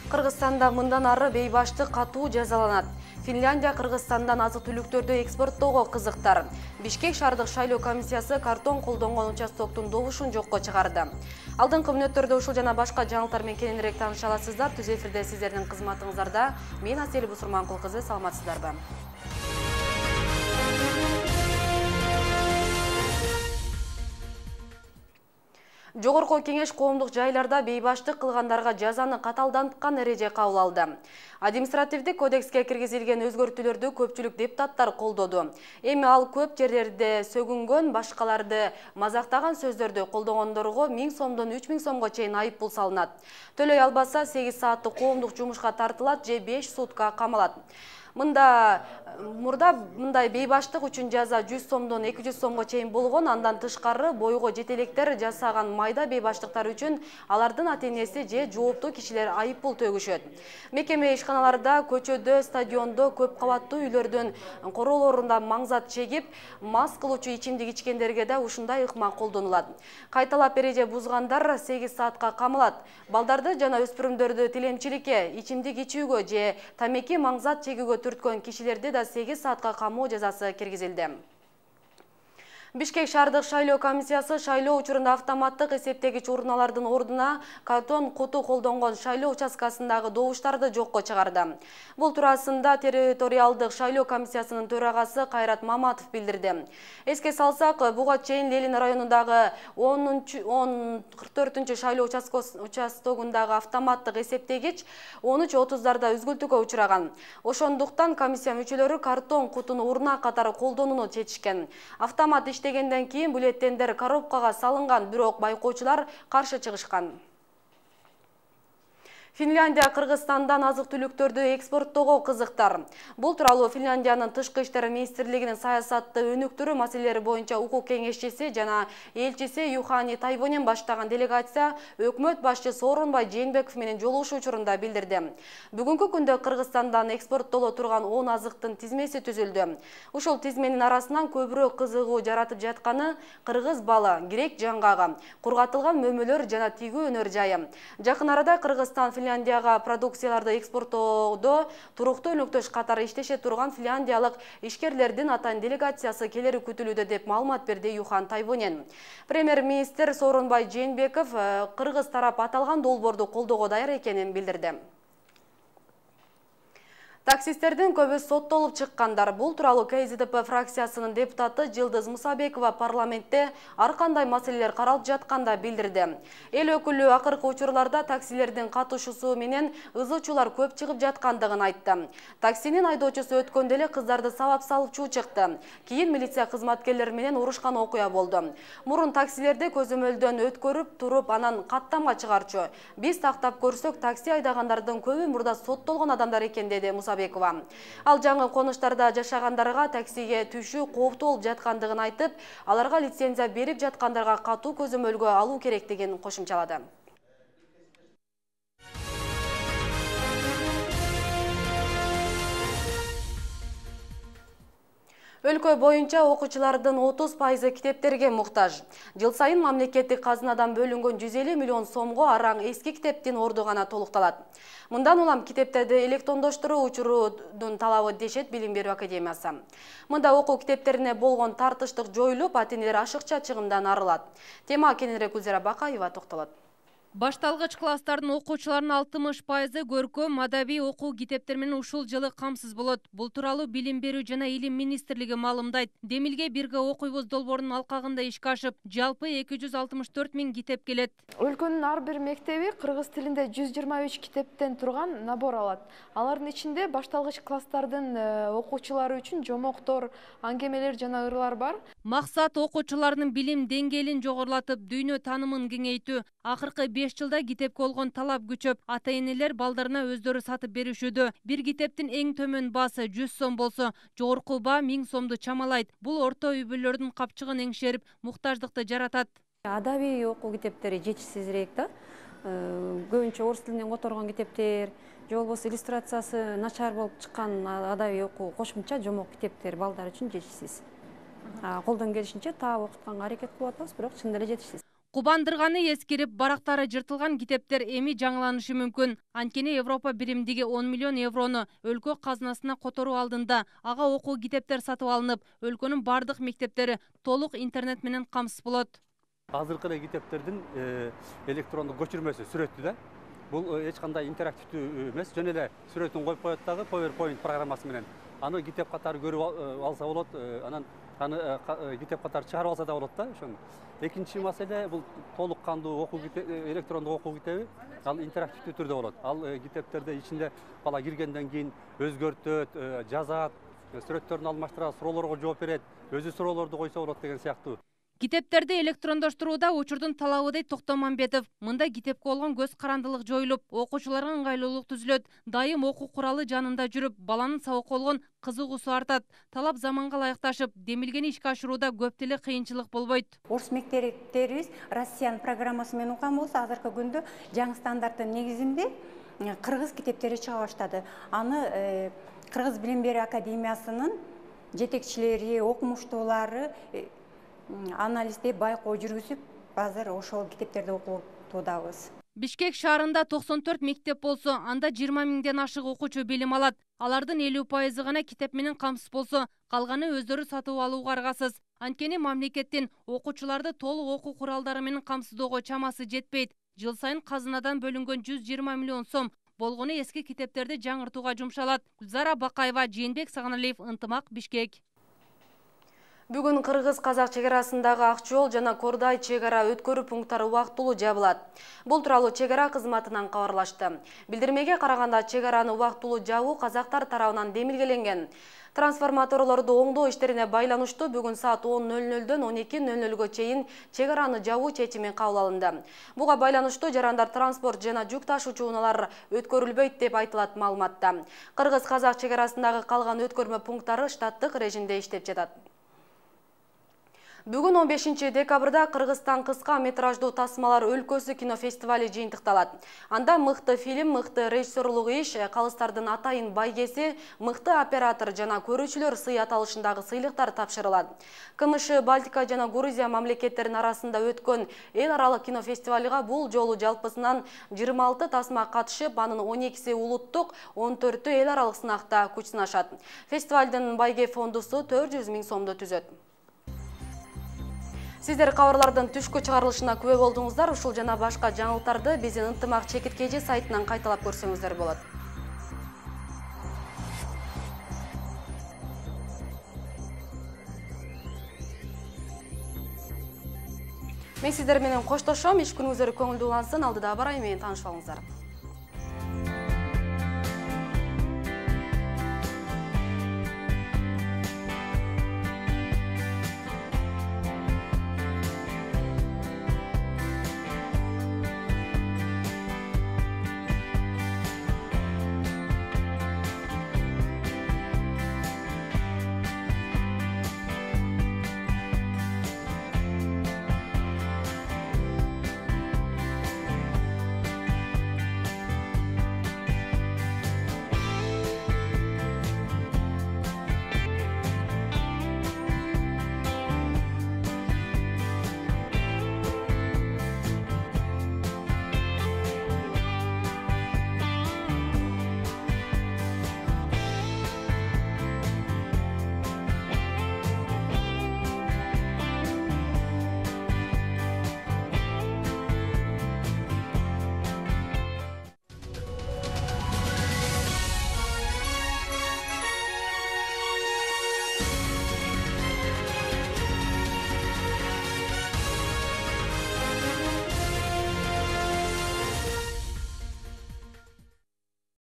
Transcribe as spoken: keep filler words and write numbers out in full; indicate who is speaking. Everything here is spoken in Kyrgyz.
Speaker 1: Кыргызстанда мындан ары бейбаштык катуу жазаланат. Финляндия Кыргызстандан азык-түлүктөрдү экспорттоого кызыктар. Бишкек шаардык шайлоо комиссиясы картон колдонгон участоктун добушун жокко чыгарды. Алдыңкы мүнөттөрдө ушул жана башка жаңылыктар менен кененирээк тааныша аласыздар. Түз эфирде сиздердин кызматыңыздарда. Мен Асель Бусурманкул кызы, саламатсыздарбы? Жогорку кеңеш коомдук жайларда бейбаштык кылгандарга жазаны каталданткан эреже кабыл алды. Административдик кодекске киргизилген өзгөртүүлөрдү көпчүлүк депутаттар колдоду. Эми ал көп жерлерде сөгүнгөн, башкаларды мазактаган сөздөрдү колдогондорго миң сомдон үч миң сомго чейин айып пул салынат. Төлөй албаса сегиз сааттык коомдук жумушка тартылат же беш сутка камалат. Мында мурда мындай бейбаштык үчүн жаза жүз сомдон эки жүз сомго чейин болгон. Андан тышкары бойго жетелектер жасаган майда бейбаштыктар үчүн алардын ата-энеси же жооптуу кишилер айып пул төгүшөт. Мекеме ишканаларда, көчөдө, стадиондо, көп кабаттуу үйлөрдүн короолорунда маңзат чегип, мас кылуучу ичимдик ичкендерге да ушундай ыкма колдонулат. Кайталап эреже бузгандар сегиз саатка камалат. Балдарды жана өспүрүмдөрдү тилемчиликке, ичимдик ичүүгө же тамеки маңзат чегүүгө түрткөн кишилерди да сегиз саатка камоо жазасы киргизилди. Бишкек шаардык шайлоо комиссиясы шайлоо учурунда автоматтык эсептегич урналардын ордуна картон куту колдонгон шайлоо участкасындагы добуштарды жокко чыгарды. Бул туурасында территориалдык шайлоо комиссиясынын төрагасы Кайрат Маматов билдирди. Эске салсак, буга чейин Ленин районундагы он кырк төртүнчү шайлоо участогундагы автоматтык эсептегич он үч отуздарда үзгүлтүүгө учураган. Ошондуктан комиссия мүчөлөрү картон кутуну урна катары колдонууну чечишкен. Автомат дегенден кийин бюллетендер коробкага салынган, бирок байкоочулар каршы чыгышкан. Финляндия Кыргызстандан азык-түлүктөрдү экспорттоого кызыктар. Бул тууралуу Финляндиянын тышкы иштер министрлигинин саясатты өнүктүрүү маселелери боюнча укук кеңешчиси жана элчиси Юхани Тайвонен баштаган делегация өкмөт башчысы Сооронбай Жээнбеков менен жолугушуу учурунда билдирди. Бүгүнкү күндө Кыргызстандан экспорттоло турган он азыктын тизмеси түзүлдү. Ушул тизменин арасынан көбүрөөк кызыгуу жаратып жатканы кыргыз балы, грек жаңгагы, кургатылган мөмөлөр жана тигүү өнөр жайы. Жакын арада Кыргызстан Финляндияга продукцияларды экспорттоодо туруктуу өнөктөш катары иштеше турган финляндиялык ишкерлердин атайын делегациясы келери күтүлүүдө деп маалымат берди Юхан Тайвонен. Премьер-министр Сооронбай Жээнбеков кыргыз тарап аталган долбоорду колдоого даяр экенин билдирди. Таксисттердин көбү соттолуп чыккандар. Бул тууралуу КСДП фракциясынын депутаты Жылдыз Мусабекова парламентте ар кандай маселелер каралып жатканда билдирди. Эл өкүлү акыркы учурларда таксилердин катышуусу менен ызы-чуулар көп чыгып жаткандыгын айтты. Таксинин айдоочусу өткөндө эле кыздарды сабап салып чуу чыкты. Кийин милиция кызматкерлери менен урушкан окуя болду. Мурун таксилерди көзөмөлдөн өткөрүп туруп, анан каттамга чыгарчу. Биз тактап көрсөк, такси айдагандардын көбү мурда соттолгон адамдар экен, деди Мусабекова. Ал жаңы конуштарда жашагандарга таксиге түшүү кооптуу болуп жаткандыгын айтып, аларга лицензия берип жаткандарга катуу көзөмөлгө алуу керектигин кошумчалады. Өлкө боюнча окуучулардын отуз пайызы китептерге муктаж. Жыл сайын мамлекеттик казынадан бөлүнгөн жүз элүү миллион сомго араң эски китептин орду гана толукталат. Мындан улам китептерди электрондоштуруу учурунун талабы, дешет Билим берүү академиясы. Мында окуу китептерине болгон тартыштык жоюлуп, ата-энелер ашыкча чыгымдан арылат. Тема кененирээк Гүлзира Бакаева токтолот.
Speaker 2: Башталгыч класстардын окуучуларынын алтымыш пайызы көркөм, адабий окуу китептер менен ушул жылы камсыз болот. Бул тууралуу Билим берүү жана Илим министрлиги маалымдайт. Демилге бирге окуйбуз долбоорунун алкагында ишке ашып, жалпы эки жүз алтымыш төрт миң китеп келет.
Speaker 3: Өлкөнүн ар бир мектеби кыргыз тилинде жүз жыйырма үч китептен турган набор алат. Алардын ичинде башталгыч класстардын окуучулары үчүн жомоктор, аңгемелер жана ырлар бар.
Speaker 2: Максат окуучулардын билим деңгээлин жогорулатып, дүйнө таанымын кеңейтүү. Акыркы беш жылда китепке болгон талап күчөп, ата-энелер балдарына өздөрү сатып беришүүдө. Бир китептин эң төмөн баасы жүз сом болсо, жогорку баа миң сомду чамалайт. Бул орто үй бүлөлөрдүн капчыгын эңшерип, муктаждыкты жаратат.
Speaker 4: Адабий окуу китептери жетишсизирээк да. Көбүнчө орус тилинен которгон китептер, же болбосо иллюстрациясы начар болуп чыккан адабий окуу кошумча жомок китептер балдар үчүн жетишсиз. Колдон келишинче таап окутканга аракет кылып атабыз, бирок чын эле жетишсиз.
Speaker 2: Кубандырганы эскирип, барактары жыртылган китептер эми жаңыланышы мүмкүн. Анткени Европа биримдиги он миллион еврону өлкө казынасына которуу алдында ага окуу китептер сатып алынып, өлкөнүн бардык мектептери толук интернет менен камсыз болот.
Speaker 5: Азыркы эле китептердин электрондук көчүрмөсү сүрөттү да. Бул эч кандай интерактивдүү эмес, жөн эле сүрөтүн коюп коет дагы PowerPoint программасы менен. Аны китеп катары көрүп алса болот, анан аны китеп катары чыгарып алса да болот да, ошону. Экинчи маселе бул толук кандуу окуу электрондук окуу китеби, ал интерактивдүү түрдө болот. Ал китептерде ичинде бала киргенден кийин өзгөртөт, жазат, сүрөттөрүн алмаштырат, суроолорго жооп берет, өзү суроолорду койсо болот деген сыяктуу.
Speaker 2: Китептерди электрондоштурууда учурдун талабы Токтомамбетов. Мында китепке болгон көз карандылык жоюлуп, окуучуларга ыңгайлуулук түзүлөт. Дайым окуу куралы жанында жүрүп, баланын сабакка болгон кызыгуусу артат. Талап заманга ылайыкташып, демилгени ишке ашырууда көп деле кыйынчылык болбойт.
Speaker 6: Орус мектептерибиз Россиянын программасы менен уккан болсо, азыркы күндө жаңы стандарттын негизинде кыргыз китептери чыга баштады. Аны Кыргыз билим берүү академиясынын жетекчилери, окумуштуулары анализдеп, байкоо жүргүзүп, азыр ошол китептерди окутуудабыз.
Speaker 2: Бишкек шаарында токсон төрт мектеп болсо, анда жыйырма миңден ашык окуучу билим алат. Алардын элүү пайызы гана китеп менен камсыз болсо, калганы өздөрү сатып алууга аргасыз. Анткени мамлекеттин окуучуларды толук окуу куралдары менен камсыздоого чамасы жетпейт. Жыл сайын казынадан бөлүнгөн жүз жыйырма миллион сом болгону эски китептерди жаңыртууга жумшалат. Гүлзара Бакаева, Жээнбек Сагыналиев, Ынтымак, Бишкек.
Speaker 1: Бүгүн Кыргыз-Казак чек арасындагы Ак жол жана Кордай чек ара өткөрүү пункттары убактылуу жабылат. Бул тууралуу чек ара кызматынан кабарлашты. Билдирмеге караганда, чек араны убактылуу жабуу казактар тарабынан демилгеленген. Трансформаторлорду оңдоо иштерине байланыштуу бүгүн саат он нөл нөлдөн он эки нөл нөлгө чейин чек араны жабуу чечими кабыл алынды. Буга байланыштуу жарандар транспорт жана жүк ташуучу унаалар өткөрүлбөйт деп айтылат маалыматта. Кыргыз-Казак чек арасындагы калган өткөрмө пункттары штаттык режимде иштеп жатат. Бүгүн он бешинчи декабрда Кыргызстан кыска метраждуу тасмалар өлкөсү кинофестивали жыйынтыкталат. Анда мыкты фильм, мыкты режиссерлук иш, калыстардын атайын байгеси, мыкты оператор жана көрүүчүлөр сый аталышындагы сыйлыктар тапшырылат. КМШ, Балтика жана Грузия мамлекеттеринин арасында өткөн эл аралык кинофестивалга бул жолу жалпысынан жыйырма алты тасма катышып, анын он экиси улуттук, он төртү эл аралык сынакта күч сынашат. Фестивалдын байге фондусу төрт жүз миң сомду түзөт. Сиздер кабарлардын түшкү чыгарылышына күбө болдуңуздар. Ушул жана башка жаңылыктарды биздин Ынтымак чекиткеji сайтынан кайталап көрсөңүздөр болот. Мен сиздер менен коштошом. Иш күнүңүздөр көңүлдүү улансын. Алдыда барайын менен таанышып алыңыздар.